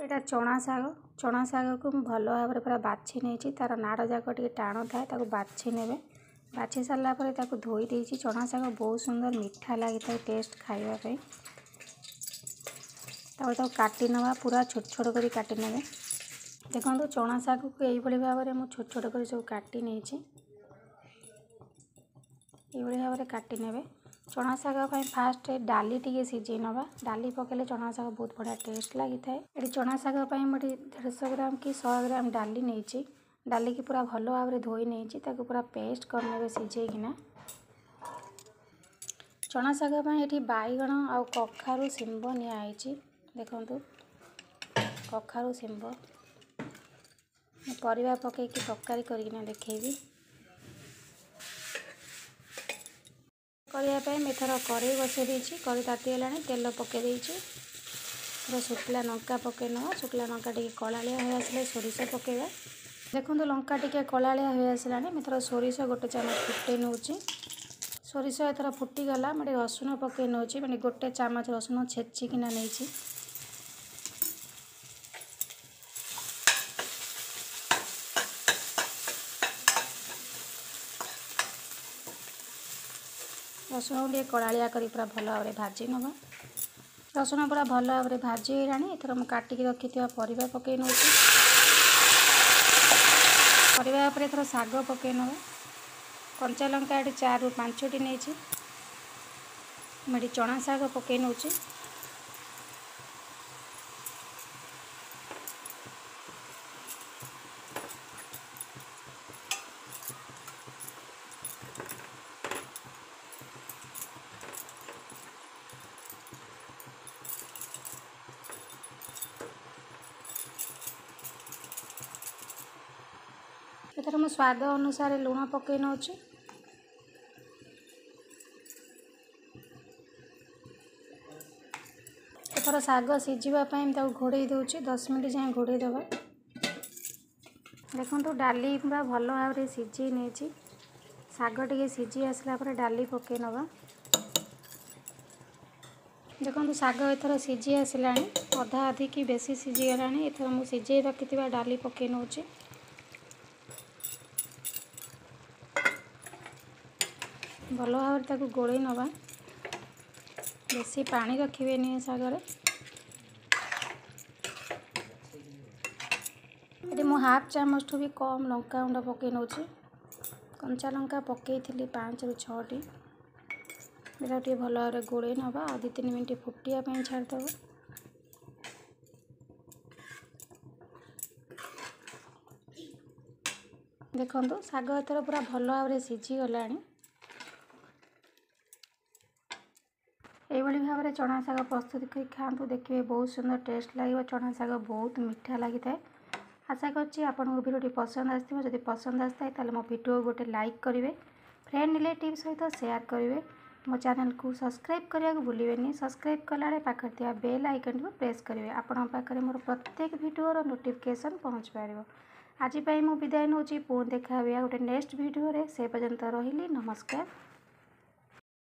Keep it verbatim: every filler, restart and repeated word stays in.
ଏଇଟା ଚଣା ଶାଗ। ଚଣା ଶାଗକୁ ମୁଁ ଭଲ ଭାବରେ ପୁରା ବାଛି ନେଇଛି। ତା'ର ନାଡ଼ ଯାକ ଟିକେ ଟାଣ ଥାଏ, ତାକୁ ବାଛି ନେବେ। ବାଛି ସାରିଲା ପରେ ତାକୁ ଧୋଇ ଦେଇଛି। ଚଣା ଶାଗ ବହୁତ ସୁନ୍ଦର ମିଠା ଲାଗିଥାଏ ଟେଷ୍ଟ ଖାଇବା ପାଇଁ। ତାପରେ ତାକୁ କାଟି ନେବା, ପୁରା ଛୋଟ ଛୋଟ କରି କାଟି ନେବେ। ଦେଖନ୍ତୁ, ଚଣା ଶାଗକୁ ଏଇଭଳି ଭାବରେ ମୁଁ ଛୋଟ ଛୋଟ କରି ସବୁ କାଟି ନେଇଛି। ଏଇଭଳି ଭାବରେ କାଟି ନେବେ। ଚଣା ଶାଗ ପାଇଁ ଫାଷ୍ଟ ଡାଲି ଟିକେ ସିଝେଇ ନେବା। ଡାଲି ପକାଇଲେ ଚଣା ଶାଗ ବହୁତ ବଢ଼ିଆ ଟେଷ୍ଟ ଲାଗିଥାଏ। ଏଠି ଚଣା ଶାଗ ପାଇଁ ମୁଁ ଏଠି ଦେଢ଼ଶହ ଗ୍ରାମ କି ଶହେ ଗ୍ରାମ ଡାଲି ନେଇଛି। ଡାଲିକି ପୁରା ଭଲ ଭାବରେ ଧୋଇ ନେଇଛି। ତାକୁ ପୁରା ପେଷ୍ଟ କରିନେବେ ସିଝେଇକିନା। ଚଣା ଶାଗ ପାଇଁ ଏଠି ବାଇଗଣ ଆଉ କଖାରୁ, ଶିମ୍ବ ନିଆହେଇଛି। ଦେଖନ୍ତୁ, କଖାରୁ, ଶିମ୍ବ, ମୁଁ ପରିବା ପକାଇକି ତରକାରୀ କରିକିନା ଦେଖେଇବି। କରିବା ପାଇଁ ମୁଁ ଏଥର କଡ଼େଇ ବସାଇ ଦେଇଛି। କଡ଼େଇ ତାତିଗଲାଣି, ତେଲ ପକାଇ ଦେଇଛି। ଏଥର ଶୁଖିଲା ଲଙ୍କା ପକାଇ ନେବା। ଶୁଖିଲା ଲଙ୍କା ଟିକେ କଳାଳିଆ ହୋଇ ଆସିଲେ ସୋରିଷ ପକାଇବା। ଦେଖନ୍ତୁ, ଲଙ୍କା ଟିକେ କଳାଳିଆ ହୋଇ ଆସିଲାଣି। ମୁଁ ଏଥର ସୋରିଷ ଗୋଟେ ଚାମଚ ଫୁଟେଇ ନେଉଛି। ସୋରିଷ ଏଥର ଫୁଟିଗଲା, ମୁଁ ଟିକେ ରସୁଣ ପକାଇ ନେଉଛି। ମାନେ ଗୋଟେ ଚାମଚ ରସୁଣ ଛେଚିକିନା ନେଇଛି। ରସୁଣକୁ ଟିକେ କଳାଳିଆ କରି ପୁରା ଭଲ ଭାବରେ ଭାଜି ନେବା। ରସୁଣ ପୁରା ଭଲ ଭାବରେ ଭାଜି ହେଇଗଲାଣି। ଏଥର ମୁଁ କାଟିକି ରଖିଥିବା ପରିବା ପକାଇ ନେଉଛି। ପରିବା ଉପରେ ଏଥର ଶାଗ ପକାଇ ନେବା। କଞ୍ଚା ଲଙ୍କା ଏଠି ଚାରିରୁ ପାଞ୍ଚଟି ନେଇଛି। ମୁଁ ଏଠି ଚଣା ଶାଗ ପକାଇ ନେଉଛି। ଏଥର ମୁଁ ସ୍ୱାଦ ଅନୁସାରେ ଲୁଣ ପକାଇ ନେଉଛି। ଏଥର ଶାଗ ସିଝିବା ପାଇଁ ମୁଁ ତାକୁ ଘୋଡ଼େଇ ଦେଉଛି। ଦଶ ମିନିଟ୍ ଯାଏଁ ଘୋଡ଼େଇ ଦେବା। ଦେଖନ୍ତୁ, ଡାଲି ପୁରା ଭଲ ଭାବରେ ସିଝେଇ ନେଇଛି। ଶାଗ ଟିକେ ସିଝି ଆସିଲା ପରେ ଡାଲି ପକାଇ ନେବା। ଦେଖନ୍ତୁ, ଶାଗ ଏଥର ସିଝି ଆସିଲାଣି, ଅଧା ଅଧି କି ବେଶୀ ସିଝିଗଲାଣି। ଏଥର ମୁଁ ସିଝେଇ ରଖିଥିବା ଡାଲି ପକାଇ ନେଉଛି। ଭଲ ଭାବରେ ତାକୁ ଗୋଳେଇ ନେବା। ବେଶୀ ପାଣି ରଖିବେନି ଶାଗରେ। ଏଠି ମୁଁ ହାଫ୍ ଚାମଚଠୁ ବି କମ୍ ଲଙ୍କା ଗୁଣ୍ଡ ପକାଇ ନେଉଛି। କଞ୍ଚା ଲଙ୍କା ପକାଇଥିଲି ପାଞ୍ଚରୁ ଛଅଟି। ଏଇଟା ଟିକେ ଭଲ ଭାବରେ ଗୋଳେଇ ନେବା ଆଉ ଦୁଇ ତିନି ମିନିଟ୍ ଫୁଟିବା ପାଇଁ ଛାଡ଼ିଦେବା। ଦେଖନ୍ତୁ, ଶାଗ ଏଥର ପୁରା ଭଲ ଭାବରେ ସିଝିଗଲାଣି। ଏଇଭଳି ଭାବରେ ଚଣା ଶାଗ ପ୍ରସ୍ତୁତ କରି ଖାଆନ୍ତୁ, ଦେଖିବେ ବହୁତ ସୁନ୍ଦର ଟେଷ୍ଟ ଲାଗିବ। ଚଣା ଶାଗ ବହୁତ ମିଠା ଲାଗିଥାଏ। ଆଶା କରୁଛି ଆପଣଙ୍କୁ ଭିଡ଼ିଓଟି ପସନ୍ଦ ଆସିଥିବ। ଯଦି ପସନ୍ଦ ଆସିଥାଏ, ତାହେଲେ ମୋ ଭିଡ଼ିଓ ଗୋଟେ ଲାଇକ୍ କରିବେ, ଫ୍ରେଣ୍ଡ ରିଲେଟିଭ୍ ସହିତ ସେୟାର କରିବେ। ମୋ ଚ୍ୟାନେଲକୁ ସବସ୍କ୍ରାଇବ୍ କରିବାକୁ ଭୁଲିବେନି। ସବସ୍କ୍ରାଇବ୍ କଲାବେଳେ ପାଖରେ ଥିବା ବେଲ୍ ଆଇକନ୍ଟିକୁ ପ୍ରେସ୍ କରିବେ। ଆପଣଙ୍କ ପାଖରେ ମୋର ପ୍ରତ୍ୟେକ ଭିଡ଼ିଓର ନୋଟିଫିକେସନ୍ ପହଞ୍ଚି ପାରିବ। ଆଜି ପାଇଁ ମୁଁ ବିଦାୟ ନେଉଛି। ପୁଣି ଦେଖା ହେବ ଗୋଟେ ନେକ୍ସଟ ଭିଡ଼ିଓରେ। ସେ ପର୍ଯ୍ୟନ୍ତ ରହିଲି, ନମସ୍କାର।